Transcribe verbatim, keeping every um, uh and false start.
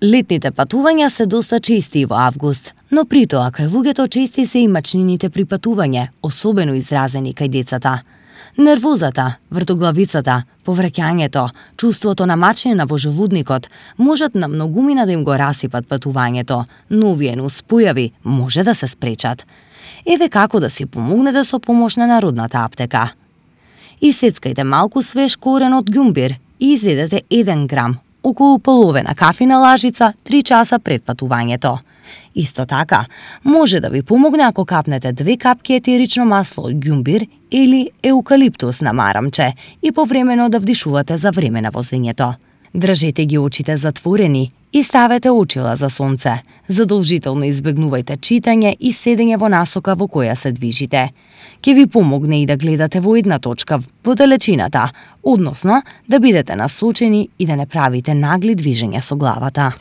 Летните патувања се доста чести во август, но при тоа кај луѓето чести се и мачнините при патување, особено изразени кај децата. Нервозата, вртоглавицата, повраќањето, чувството на мачнина во желудникот можат на многумина да им го расипат патувањето, но овие нуспојави може да се спречат. Еве како да си помогнете со помош на Народната аптека. Исецкајте малку свеж корен од ѓумбир и изедете еден грам, околу половина кафина лажица, три часа пред патувањето. Исто така, може да ви помогне ако капнете две капки етерично масло од ѓумбир или еукалиптус на марамче и повремено да вдишувате за време на возењето. Држете ги очите затворени и ставете очила за сонце. Задолжително избегнувајте читање и седење во насока во која се движите. Ке ви помогне и да гледате во една точка во далечината, односно да бидете насочени и да не правите нагли движења со главата.